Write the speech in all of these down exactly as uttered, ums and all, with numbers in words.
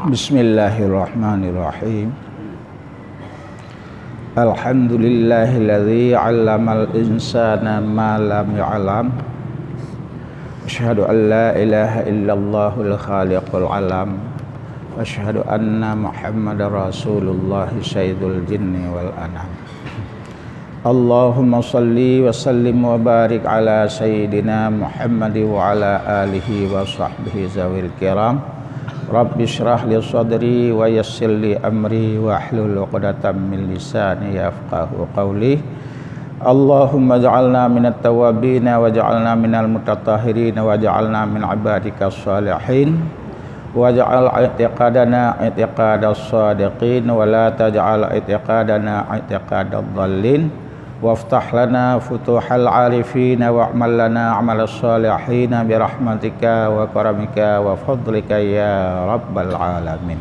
Bismillahirrahmanirrahim. Alhamdulillahilladzi 'allamal insana ma lam ya'lam. Asyhadu an la ilaha illallahul khaliqul alam. Asyhadu anna Muhammadar Rasulullah sayyidul jinni wal anam. Allahumma shalli wa sallim wa barik ala sayyidina Muhammad wa ala alihi wa sahbihi zawil kiram. Rabbi shrah li sadri wa yassir li amri wahlul 'uqdatam min lisani yafqahu qawli. Allahumma ja'alna minat tawwabina waj'alna minal mutatahhirina waj'alna min ibadika shalihin. Waj'al i'tiqadana i'tiqadas shadiqin wa la taj'al i'tiqadana i'tiqadadh dhallin. Waftah lana futuhal arifin wa'mal lana 'amalas shalihin birahmatika wa karamika wa fadlika ya rabbal alamin.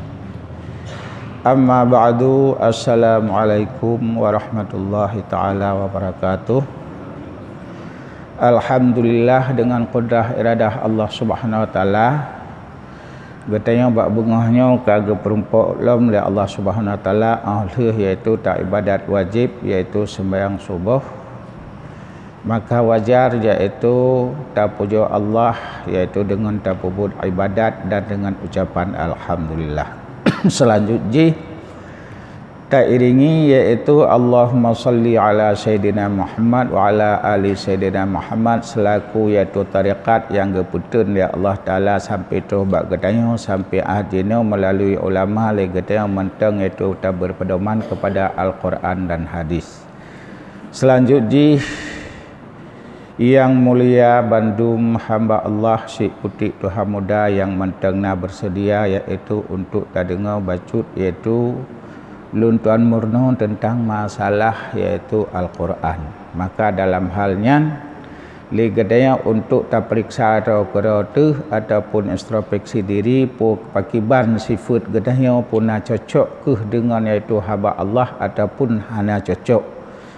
Amma ba'du, assalamualaikum warahmatullahi taala wabarakatuh. Alhamdulillah, dengan kudrah iradah Allah Subhanahu wa taala, geutanyoe bak beungoh nyoe ka geupeurumpok lom lé Allah Subhanahu wa taala, óh lheueh yaitu taibadat wajéb, yaitu seumbahyang suboh. Maka wajar yaitu tapujoe Allah, yaitu deungon tapeubuet ibadat dan deungon ucapan alhamdulillah. Seulanjut jih, tairingi yaitu Allahumma shalli ala sayyidina Muhammad wa ala ali sayyidina Muhammad seulaku yaitu tarekat nyang geupeuteun lé Allah Taala sampai troh bak geutanyoe sampai ahad jinoe meulalu ulama lé geutanyoe mantong yaitu tabeupeudoman keupada Al-Quran dan hadis. Seulanjut jih, nyang mulia bandum hamba Allah, syiek putéh tuha muda nyang mantong na beuseudia, yaitu untuk tadeungoe bacut, yaitu lôn tuan meurunoe teuntang masalah, yaitu Al-Quran. Maka dalam hal nyan, lé geutanyoe untuk tapeuriksa droe keudroe teuh ataupun introspeksi diri, peue pakiban sifeuet geutanyoe, peue na cocok keuh deungon yaitu haba Allah ataupun hana cocok.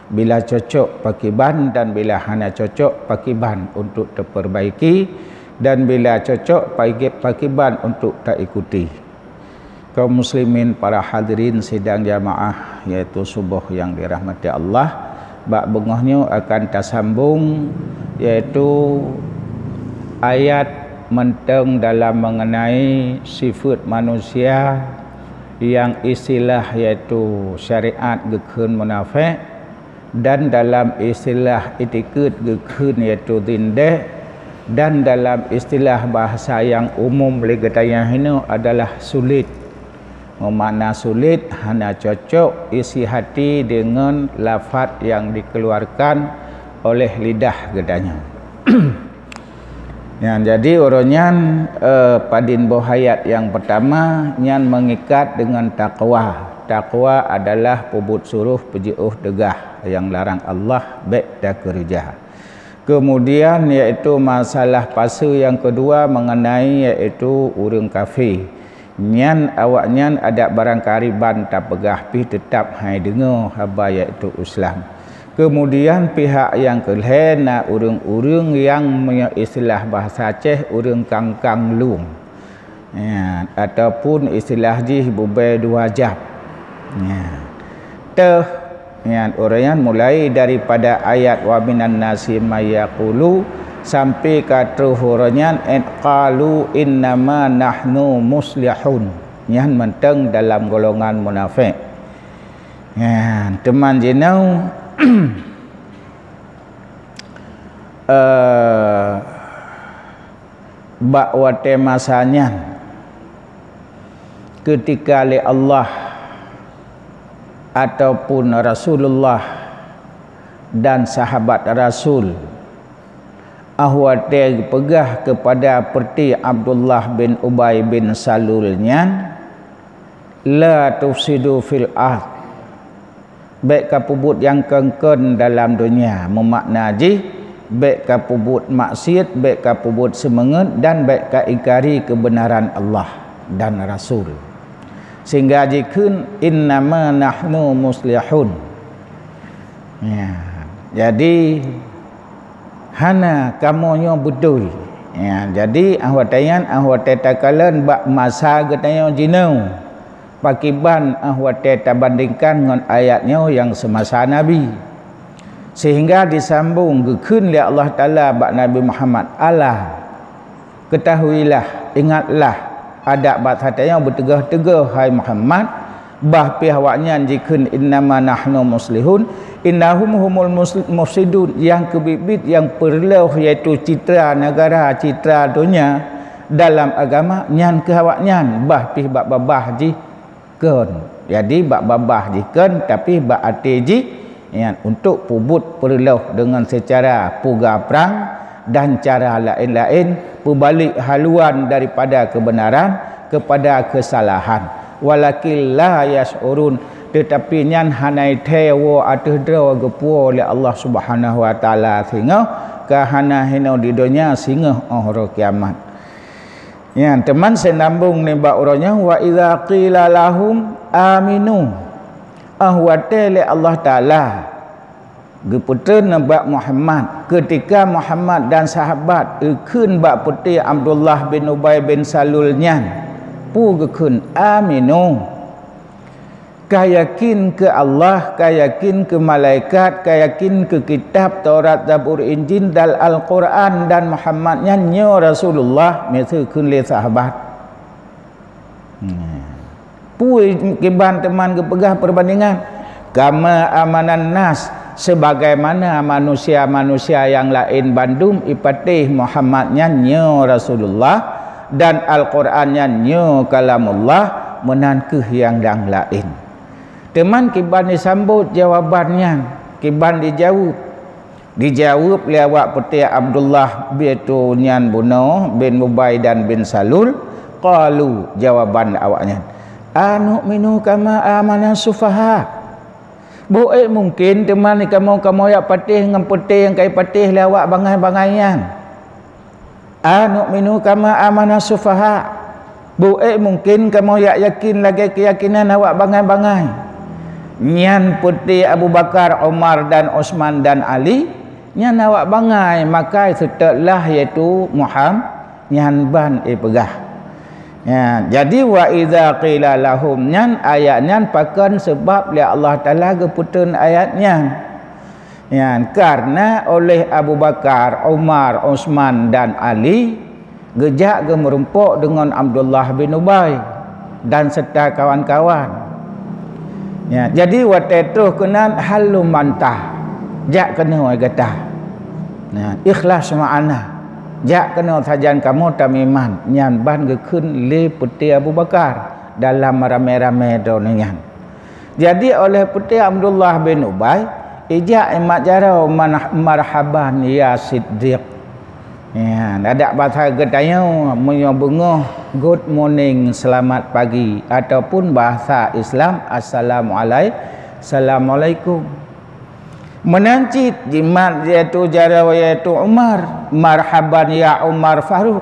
Bila cocok pakiban dan bila hana cocok pakiban untuk tapeurbaiki, dan bila cocok pagi-, pakiban untuk taikuti. Kaum muslimin, para hadirin sidang jamaah, yaitu suboh nyang dirahmati Allah, bak beungoh nyoe akan tasambong, yaitu ayat mantong dalam mengenai sifeuet manusia nyang istilah yaitu syariat geukheun munafék, dan dalam istilah itikeuet geukheun yaitu zindék, dan dalam istilah bahasa nyang umum lé geutanyoe hinoe adalah sulet. Meumakna sulet hana cocok isi hati deungon lafaz nyang dikeuluarkan oleh lidah geutanyoe. Nyan, jadi uroe nyan, eh, padin boh ayat nyang peutama nyan meungikat deungon takwa. Takwa adalah peubuet suroh peujiôh teugah, nyang larang Allah bék takeureuja. Keumudian, yaitu masalah paseue nyang keudua meungenai yaitu ureuëng kafé. Nyan awaknyan adak barangkariban tapeugah pih teutab hai deungoe haba yaitu Islam. Keumudian pihak nyang keulhée na ureuëng-ureuëng nyang meunyoe istilah bahasa Aceh ureuëng kangkang lueng. Ya, ataupun istilah jih bubée dua jab. Ya. Teuh Nyan, uroe nyan mulai daripada ayat wa minan nasi may yaqulu sampai ka troh uroe nyan, qalu innama nahnu muslihun. Nyan mantong dalam golongan munafék. Nyan, teuma jinoe, eh, bak watée masa nyan, keutika lé Allah ataupun Rasulullah dan sahabat Rasul, óh watée geupeugah keupada peureute Abdullah bin Ubay bin Salul nyan, "La tufsidu fil ard." Bék kapeubuet nyang kon-kon dalam donya, meumakna jih, bék kapeubuet maksiet, bék kapeubuet seumeungeut, dan bék kaingkari keubeunaran Allah dan Rasul. Sehingga jikheun, "Innama nahnu muslihun." Ya, jadi, hana kamoe nyoe beutôi. Ya, jadi, ah watèe nyan, ah watèe takalon bak masa geutanyoe jinoe, pakiban, ah watèe tabandingkan ngon ayat nyoe nyang seumasa Nabi. Sehingga disambong geukheun lé Allah Taala bak Nabi Muhammad, "Ala, ketahuilah, ingatlah, adak bak satanyoe beuteugoh-teugoh, hai Muhammad, bah pih awaknyan jikheun, 'Innama nahnu muslihun, innahum humul mus-, mufsidun,' nyang keubiet-biet nyang peureuloh, yaitu citra negara, citra donya dalam agama, nyan keuh awaknyan, bah pih bak babah jih kon." Jadi, bak babah jih kon, tapi bak até jih, nyan, untuk peubuet peureuloh deungon seucara puga prang dan cara laén-laén, peubalek haluan daripada keubeunaran keupada keusalahan. Walakin la yasy'urun, teutapi nyan hana thèe woe ateueh droe geupuwoe lé Allah Subhanahu wa Taala singoh, ka hana hinoe di donya singoh 'oh uroe kiamat. Nyan, teuma seunambong nibak uroe nyoe, "Wa idza qila lahum aminu." Ah watèe lé Allah Taala geupeutreun bak Muhammad, keutika Muhammad dan sahabat geukheun bak putéh Abdullah bin Ubay bin Salul nyan, peue geukheun, "Aminu." Ka yakin keu Allah, ka yakin keu malaikat, ka yakin keu kitab Taurat, Zabur, Injil, dan Al-Quran, dan Muhammad nyan nyoe Rasulullah, miseue kheun lé sahabat. Hmm. Peue kiban teuma geupeugah peubandingan? "Kama amanan nas," sebagaimana manusia-manusia nyang laén bandum ipatéh Muhammad nyan nyoe Rasulullah, dan Al-Quran nyan nyoe kalamullah, meunan keuh nyang dang laén. Teuma kiban jisambot jawaban nyan, kiban jijaweueb. Dijaweueb lé awak putéh Abdullah, yaitu nyan bunoe bin Ubay dan bin Salul, qalu, jawaban awaknyan, "Anu'minu kama amana sufaha." Boh ék mungken teuma kamoe, kamoe jak patéh ngon putéh nyang ka jipatéh lé awak bangai-bangai nyan? "Anu'minu kama amana sufaha." Boh ék mungken kamoe jak yakin lagèe keuyakinan awak bangai-bangai? Nyan putéh Abu Bakar, Umar, dan Utsman, dan Ali, nyan awak bangai makai seutôt lah, yaitu Muham-, nyan ban jipeugah. Ya, jadi, "Wa idza qila lahum," nyan ayat nyan pakon seubab lé Allah Taala geupeutreun ayat nyan. Nyan, kareuna oleh Abu Bakar, Umar, Utsman, dan Ali geujak geumeurumpok deungon Abdullah bin Ubay dan serta kawan-kawan. Ya, jadi watèe troh keunan, "Halumma anta," jak keunoe gata. Nah, ikhlas ma'ana. Jak keunoe sajan kamoe tameuiman, nyan ban geukheun lé putéh Abu Bakar dalam ramé-ramé droeneuh nyan. Jadi, oleh putéh Abdullah bin Ubay, ijak imat jaroe, "Manah-, marhaban ya Siddiq." Ya, adak basa geutanyoe, meunyoe beungoh, "Good morning, selamat pagi," ataupun bahasa Islam, "Assalamualai-, assalamualaikum." Meunan cit jimat, yaitu jaroe, yaitu Umar, "Marhaban ya Umar Faruq."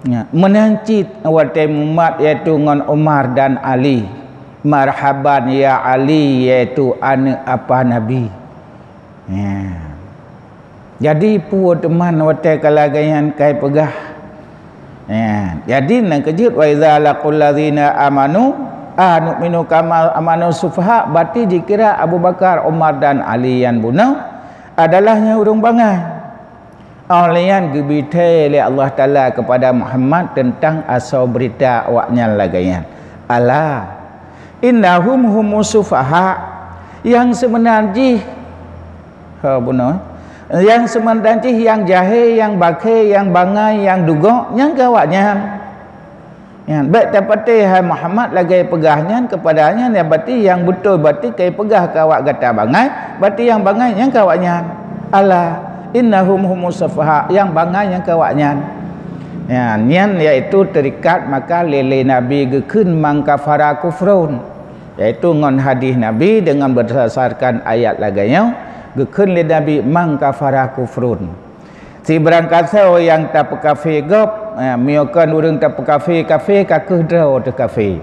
Ya, meunan cit watèe mumat, yaitu ngon Umar dan Ali, "Marhaban ya Ali," yaitu aneuk apa Nabi. Ya. Jadi, peue teuma watèe ka lagèe nyan ka jipeugah? Ya. Jadi, nyang keujeuet, "Wa idza laqul ladzina amanu anu'minu kama amanu sufaha," berarti jikira Abu Bakar, Umar, dan Ali nyan bunoe adalah nyan ureueng bangai. Óh lheueh nyan geubi thèe lé Allah Taala keupada Muhammad teuntang asoe beurita awaknyan lagèe nyan, "Ala innahum humus sufaha," nyang seubeuna jih, ho bunoe, nyang seubeuna jih nyang jahé, nyang bakhé, nyang bangai, nyang dugok, nyan keuh awaknyan. Nyan, bèk tapatéh hai Muhammad lagèe peugah nyan keupada nyan, nyan berarti nyang beutôi, berarti ka jipeugah keu awak gata bangai, berarti nyang bangai nyan keuh awaknyan. Ala innahum humus sufaha, nyang bangai nyan keuh awaknyan. Nyan, nyan yaitu teurikat maka lé, lé Nabi geukheun man kafara kufrun, yaitu ngon hadih Nabi deungon beurdasarkan ayat lagèe nyoe, geukheun lé Nabi man kafara kufrun. Sibarang kasoe nyang tapeukafé gob, eh, meunyoe kon ureueng tapeukafé, kafé ka kheueh droe teuh kafé.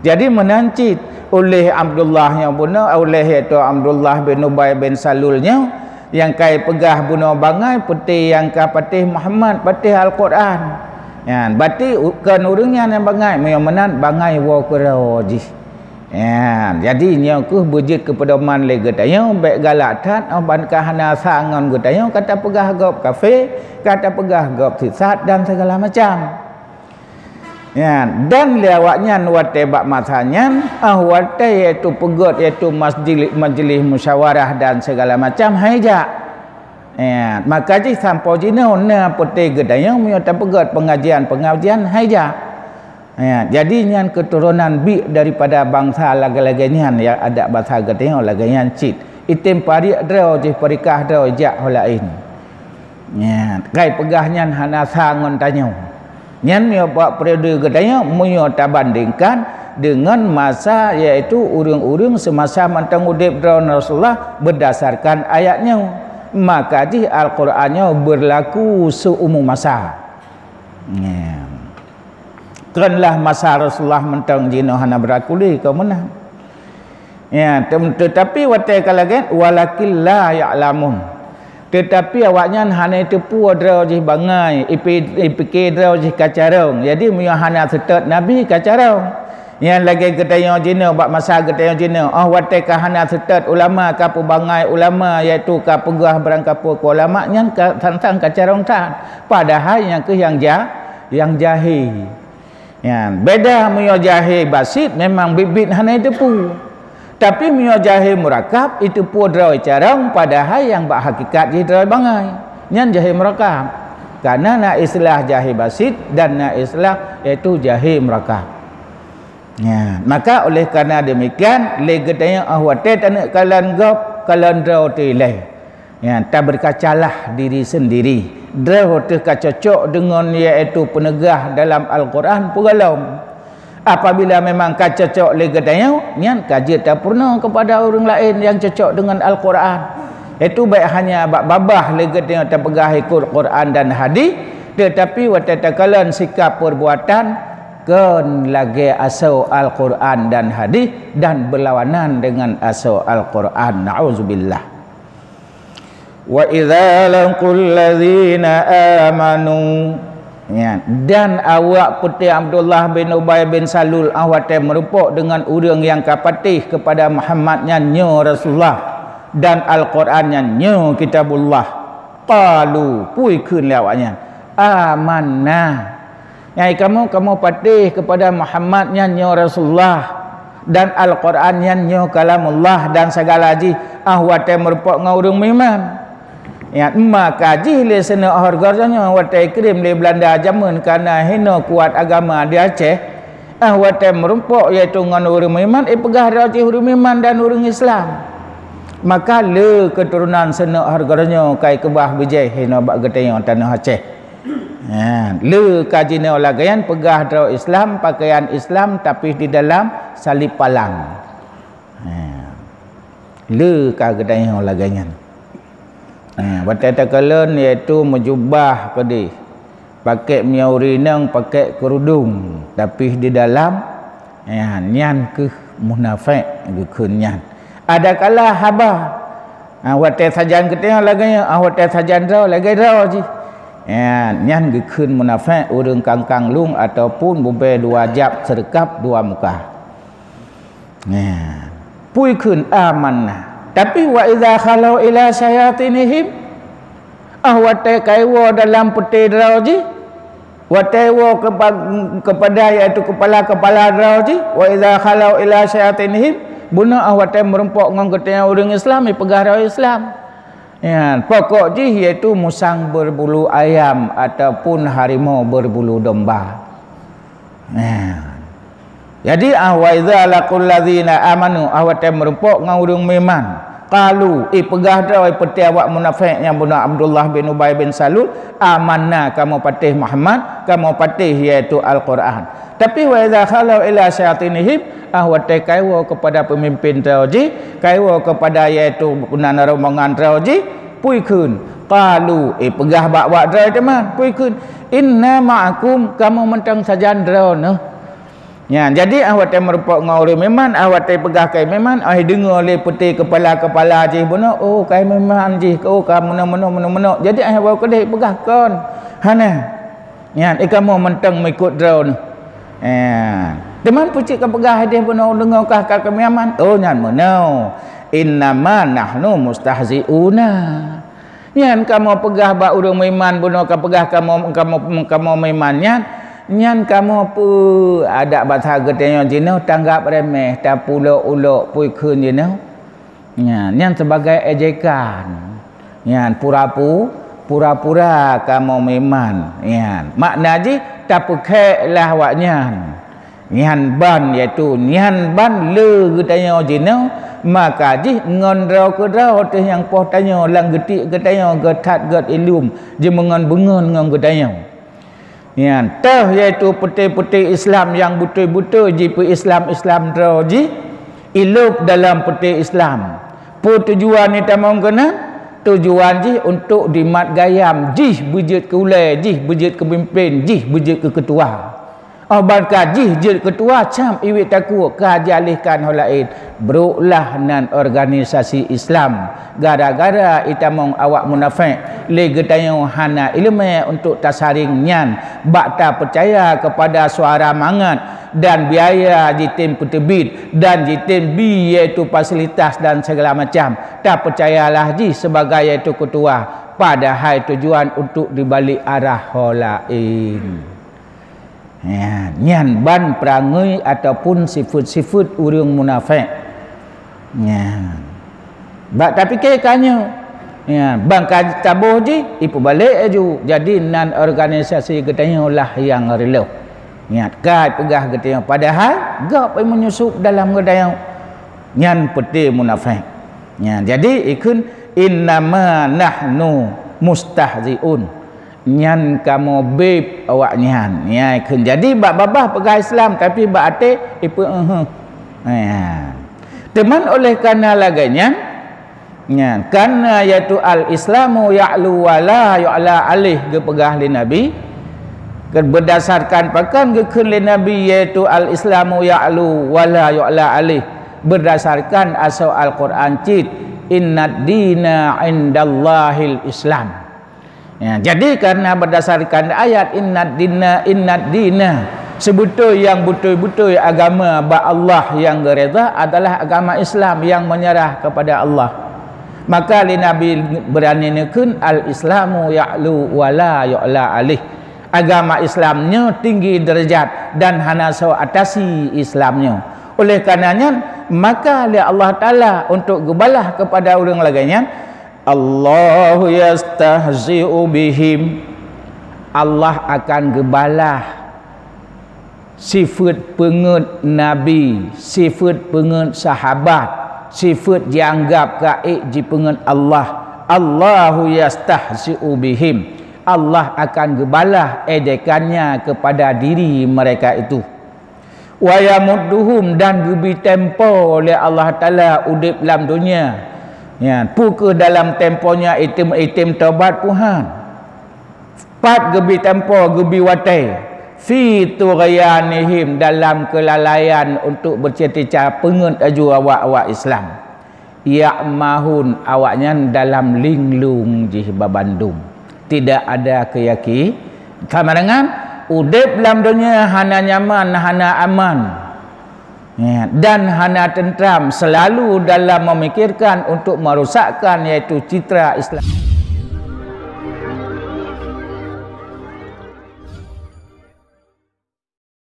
Jadi meunan cit, uléh Abdullah nyoe bunoe, uléh yaitu Abdullah bin Ubay bin Salul nyoe, Nyang ka ipeugah bunoe bangai, peuté nyang ka patéh Muhammad, patéh Al-Qur'an. Nyan, berarti u-, kon ureuëng nyan nyang bangai, meunyoe meunan bangai woe keudroe jih. Nyan, jadi nyoe kheueh beujeuet keu peudoman lé geutanyoe, bék galak that, oh ban ka hana sa ngon geutanyoe, ka tapeugah gob kafé, ka tapeugah gob sisat dan segala macam. Ya, dan lé awaknyan watée bak masa nyan, ah, watée yaitu peugét, yaitu majli-, majlis musyawarah dan segala macam, hai jak. Ya, maka jih sampoe jinoe na peuté geutanyoe meunyoe tapeugét pengajian-pengajian, hai jak. Ya, jadi nyan keuturonan biek daripada bansa lagée-lagée nyan, ya, adat bansa geutanyoe lagée nyan cit. Item pariek droe jih, peurikah droe jak ho laén. Nyan, kai peugah nyan hana sa ngon tanyoe. Nyan meunyoe bak periode geutanyoe, meunyoe tabandingkan deungon masa, yaitu ureuëng-ureuëng seumasa mantong udeb droe Rasulullah berdasarkan ayat nyoe, maka jih Al-Qur'an nyoe berlaku seumu masa. Nyan. Kon lah masa Rasulullah mantong jinoe hana berlaku lé keu meunan. Ya, tem-, tetapi watée ka lagée, "Walakin la ya'lamun." Tetapi awaknyan hana teupeu droe jih bangai, ipi-, ipike droe jih ka carông. Jadi, meunyoe hana seutôt Nabi ka carông. Nyan lagée geutanyoe jinoe, bak masa geutanyoe jinoe, oh, watée ka hana seutôt ulama, ka peubangai ulama, yaitu ka peugah barangkapeue keu ulama, nyan ka, sang-sang ka carông that. Padahai nyan kheueh nyang ja-, nyang jahé. Nyan, beda meunyoe jahé basit memang biet-biet hana jiteupeu. Tapi meunyoe jahé murakab, jiteupeu droe carông, padahai nyang bak hakikat jih droe bangai. Nyan jahé murakab. Karena na istilah jahé basit dan na istilah yaitu jahé murakab. Nyan, maka oleh karena demikian, lé geutanyoe ah watée taneuk kalon gob, kalon droe teuh ilée. Ya, taberkacalah diri sendiri. Droe teuh ka cocok deungon, yaitu peuneugah dalam Al-Qur'an peue gohlom. Apabila memang ka cocok lé geutanyoe, nyan ka jeuet tapeurunoe keupada ureuëng laén nyang cocok deungon Al-Qur'an. Yaitu bék hanya bak babah lé geutanyoe tapeugah ikot Qur'an dan hadis, teutapi watée takalon sikap peurbuatan kon lagée asoe Al-Qur'an dan hadis dan beulawanan deungon asoe Al-Qur'an. Nauzubillah. "Wa idza laqul ladzina amanu," ya, dan awak peuté Abdullah bin Ubay bin Salul, ah, watée meurumpok deungon ureuëng nyang ka patéh keupada Muhammad nyan nyoe Rasulullah dan Al-Qur'an nyan nyoe Kitabullah, qalu, peue kheun lé awaknyan, "Amanna." Nyan kamoe, kamoe patéh keupada Muhammad nyan nyoe Rasulullah, dan Al-Qur'an nyan nyoe kalamullah, dan sigala jih, ah, watée meurumpok ngon ureuëng meuiman. Nyan maka jih lé seuneuk hareuga nyoe watée ikirém lé Beulanda jameun kana hinoe kuat agama di Aceh, ah, watée meurumpok yaitu ngon ureuëng meuiman, ipeugah droe jih ureuëng meuiman dan ureuëng Islam. Maka le keuturonan seuneuk hareuga nyoe kai keubah bijéh hinoe bak geutanyoe tanoh Aceh. Ha, le ka jinoe lagée nyan peugah droe Islam, pakaian Islam, tapi di dalam salib palang. Ha, le ka geutanyoe lagée nyan. Ha, watée takalon yaitu meujubah keudeh, pakai miyueb uri inong, pakai keurudung, tapi di dalam, ha, nyan kheueh munafék geukheun nyan. Adakala haba, ha, watée sajan geutanyoe lagée nyoe, ah, watée sajan droe lagée droe jih. Ya, nyan geukheun munafék, ureuëng kangkang lueng ataupun bubée dua jab seureukab dua muka. Ya. Peue kheun amanna. Tapi wa idza khalau ila syayatinihim, ah, watée ka iwoe dalam peuté droe jih, watée iwoe keupa-, keupada, yaitu keupala-keupala droe jih, wa idza khalau ila syayatinihim, bunoe ah watée meurumpok ngon geutanyoe ureuëng Islam, ipeugah droe Islam. Ya, pokok jih yaitu musang berbulu ayam ataupun harimau berbulu domba. Ya. Jadi, ah, wa idza laqul ladzina amanu, ah, watée meurumpok ngon ureuëng meuiman, qalu, ipeugah droe peuté awak munafék nyang bunoe Abdullah bin Ubay bin Salul, "Amanna," kamoe patéh Muhammad, kamoe patéh yaitu Al-Qur'an. Tapi, wa idza khalau ila syayatinihim, ah, watée ka iwoe keupada peumimpén droe jih, ka iwoe keupada yaitu nan rombongan droe jih, peue kheun? Qalu, ipeugah bak-bak droe teuma, peue kheun? "Inna ma'akum," kamoe mantong sajan droeneuh. Nyan, jadi ah watée meurumpok ngon ureuëng meuiman, ah watée peugah keu meuiman, ah deungoe lé peuté keupala-keupala jih bunoe, "Oh, kayée meuiman jih, oh ka meunoe-meunoe, meunoe-meunoe." Jadi ah woe keudeh peugah kon. Hana. Nyan, "Eh, kamoe mantong meuikot droeneuh." Eh, teuma peue cit ka peugah ideh bunoe deungoe kah ka keu meuiman? Oh, nyan meunoe. "Innama nahnu mustahzi'una." Nyan kamoe peugah bak ureuëng meuiman bunoe ka peugah kamoe, kamoe, kamoe meuiman nyan, nyan kamoe peu adak basa geutanyoe jinoe tanggap remeh, tapulok-ulok peue kheun jinoe. Nyan, nyan sebagai ejekan. Nyan pura-pu-, pura-pura kamoe meuiman. Nyan, makna jih tapeukhek lah awaknyan. Nyan ban, yaitu nyan ban le geutanyoe jinoe, maka jih ngon droe keudroe teuh nyang poh tanyoe lam geutik geutanyoe geuthat gét ilum jimeungon-beungon ngon geutanyoe. Nyan toh, yaitu peuté-peuté Islam nyang beutôi-beutôi jipeu-Islam-Islam droe jih ilop dalam peuté Islam. Peue tujuan itamong keunan? Tujuan jih untuk dimat gayam jih beujeuet keu ulée, jih beujeuet keu peumimpén, jih beujeuet keu keutua. Oh, ban ka jih jeuet keutua, cam iwet takue ka jialihkan ho laén. Broklah nan organisasi Islam. Gara-gara itamong awak munafék, lé geutanyoe hana iéleumé untuk tasaring nyan bak tapeucaya keupada suara mangat dan biaya jitem peuteubiet dan jitem bi, yaitu fasilitas dan segala macam. Tapeucayalah jih sebagai yaitu keutua, padahai tujuan untuk dibalik arah ho laén. Nyan, nyan ban peurangui ataupun sifeuet-sifeuet ureuëng munafék. Nyan. Bak tapike ka nyoe. Nyan, ban ka taboh jih, ipeubalek laju. Jadi nan organisasi geutanyoe lah nyang reulôh. Nyan, ka peugah geutanyoe, padahai gob menyusup dalam geutanyoe. Nyan peuté munafék. Nyan, jadi ikheun, "Innama nahnu mustahzi'un." Nyan kamoe béb awaknyan. Nyan kheun jadi bak babah peugah Islam, tapi bak até ipeu-, "Ehe." Nyan. Teuma oleh karena lagée nyan, nyan, karena yaitu al-Islamu ya'lu wa la yu'la alaih geupeugah lé Nabi, ke-, berdasarkan pakon geukheun lé Nabi, yaitu al-Islamu ya'lu wa la yu'la alaih, berdasarkan asoe Al-Quran cit, "Innad dina indallahil Islam." Ya, jadi karena berdasarkan ayat, "Innad dina, innad dina," sebeutôi nyang beutôi-beutôi agama bak Allah nyang geureda adalah agama Islam nyang menyerah kepada Allah. Maka lé Nabi beurani neukheun, "Al-Islamu ya'lu wa la yu'la alaih." Agama Islam nyoe tinggi derajat dan hana soe atasi Islam nyoe. Oleh karena nyan, maka lé Allah Taala untuk geubalah kepada ureuëng lagée nyan, "Allahu yastahzi'u bihim." Allah akan geubalah sifeuet peungeuet nabi, sifeuet peungeuet sahabat, sifeuet jianggab ka ék jipeungeuet Allah. "Allahu yastahzi'u bihim." Allah akan geubalah ejekannya kepada diri mereka itu. "Wa yamudduhum," dan geubi tempo lé Allah Taala udeb lam donya. Ya, peu kheueh dalam tempo nyan item-item tobat puhan. Pat geubi tempo, geubi watée. "Fi tughyanihim," dalam keulalaian untuk beucita-cita peungeuet laju awak-awak Islam. "Ya'mahun," awaknyan dalam linglung jih babandum. Tidak ada keuyaki-, sama dengan udeb lam donya hana nyaman, hana aman, ya, dan hana tentram, selalu dalam memikirkan untuk merusakkan, yaitu citra Islam.